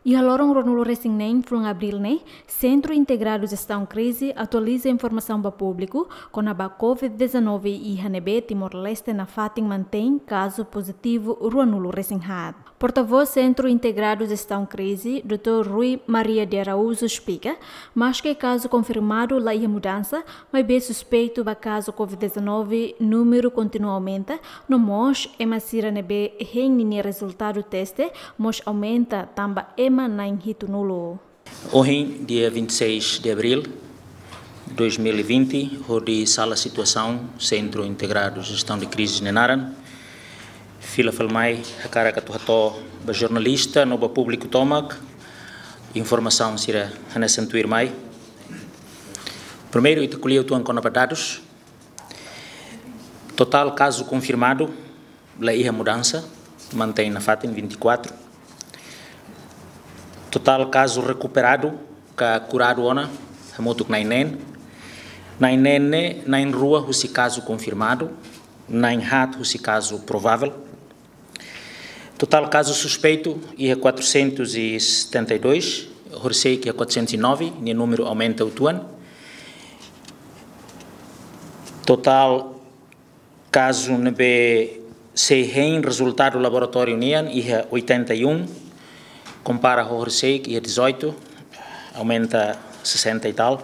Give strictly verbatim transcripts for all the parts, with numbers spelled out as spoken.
Iha loron ruanulu-resin-neen fulan Abríl ne'e, Sentru Integradu Jestaun Krize atualiza informasaun ba públiku kona-ba COVID dezanove iha ne'ebé Timor-Leste nafatin mantein kazu pozitivu ruanulu-resin-haat. Portavós Sentru Integradu Jestaun Krize, doutór Rui Maria de Araújo esplika, maske kazu konfirmadu la iha mudansa, maibé suspeitu ba kazu COVID dezanove númeru kontinua aumenta, no mós ema sira ne'ebé hein ninia rezultadu teste mós aumenta tanba ema na'in hitunulu. Ohin, dia vinte e seis de abril de dois mil e vinte, hodi sala situasaun Sentru Integradu Jestaun de Krize nia naran, fila fali mai hakarak atu hato'o ba jornalista no ba públiku tomak informasaun sira hanesan tuirmai. Primeiru, ita ko'alia uitoan kona-ba dadus. Totál kazu konfirmadu la iha mudansa, mantein nafatin vinte e quatro. Totál kazu rekuperadu ka kuradu ona, hamutuk na'in-neen. Na'in-neen ne'e, na'in-rua husi kazu konfirmadu, na'in-haat husi kazu provável. Totál kazu suspeitu iha quatrocentos e setenta e dois, horisehik iha quatrocentos e nove, nia númeru aumenta uitoan. Totál kazu ne'ebé sei hein rezultadu laboratóriu nian iha oitenta e um, kompara ho horisehik iha dezoito, aumenta sessenta e tal.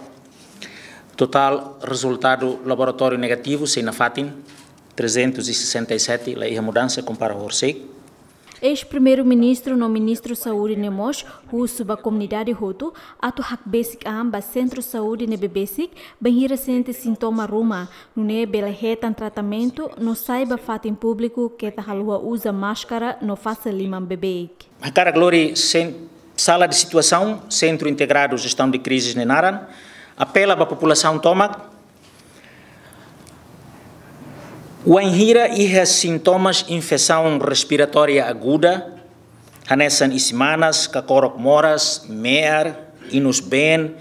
Totál rezultadu laboratóriu negativu sei nafatin trezentos e sessenta e sete, la iha mudansa kompara ho horisehik. Eis-Primeiru-Ministru no Ministru Saúde ne'e mós husu ba komunidade hotu atu hakbesik an ba sentru saúde ne'ebé besik, bainhira sente sintoma ruma, nune'e bele hetan tratamentu no sai ba fatin públiku keta haluha uza máskara no fase liman beibeik. Hakarak lori sen-, sala de situasaun, Sentru Integradu Jestaun de Krize nia naran, apela ba populasaun tomak, wainhira iha sintomas infesaun respiratória aguda, hanesan isin-manas, kakorok moras, me'ar, inus-been,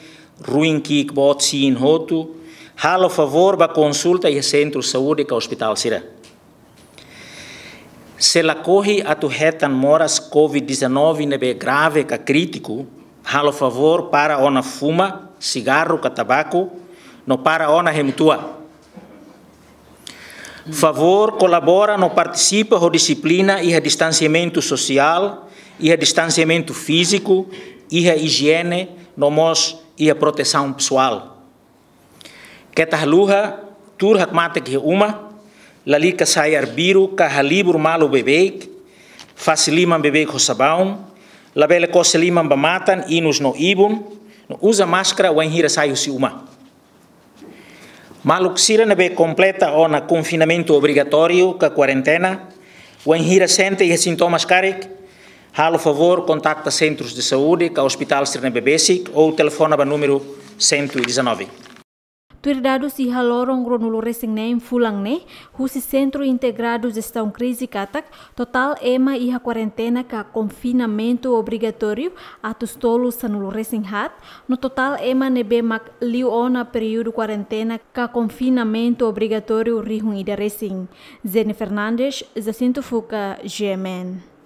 ruin ki'ik boot siin hotu, halo favór ba konsulta iha sentru saúde ka ospitál sira. Se lakohi atu hetan moras COVID dezanove ne'ebé grave ka krítiku, halo favór para ona fuma sigarru ka tabaku, no para ona hemu tua. Favór kolabora no partisipa ho dixiplina iha distansiamentu sosiál, iha distansiamentu fíziku, iha ijiene, no mós iha protesaun pesoál. Keta haluha tuur hakmatek iha uma, lalika sai arbiru ka halibur malu beibeik, fase liman beibeik ho sabaun, labele kose liman ba matan, inus no ibun, no uza máskara wainhira sai husi uma. Maluk sira ne'ebé kompleta ona konfinamentu obrigatóriu ka kuarentena, wainhira sente iha sintomas karik, halo favór kontakta sentrus de saúde ka ospitál sira ne'ebé besik ou telefona ba númeru cento e dezanove. Tuir dadus iha loron ruanulu-resin-neen fulan ne'e, husi Sentru Integradu Jestaun Krize katak, totál ema iha kuarentena ka konfinamentu obrigatóriu atus tolu sanulu-resin-haat, no totál ema ne'ebé mak liu ona períodu kuarentena ka konfinamentu obrigatóriu rihun ida resin. Zene Fernandes, Jacinto Fuca, G M N.